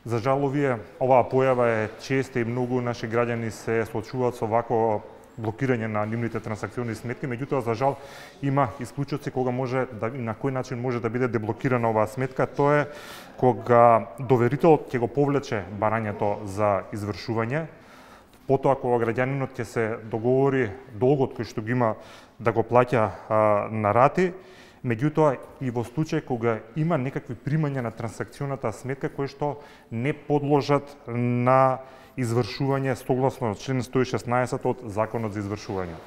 За жал, оваа појава е честа и многу наши граѓани се соочуваат со вакво блокирање на нивните трансакциони сметки, меѓутоа за жал има исклучоци кога може да и на кој начин може да биде деблокирана оваа сметка. Тоа е кога доверителот ќе го повлече барањето за извршување, потоа кога граѓанинот ќе се договори долгот кој што го има да го плаќа на рати, меѓутоа и во случај кога има некакви примања на трансакционата сметка кои што не подложат на извршување согласно член 116 од Законот за извршување.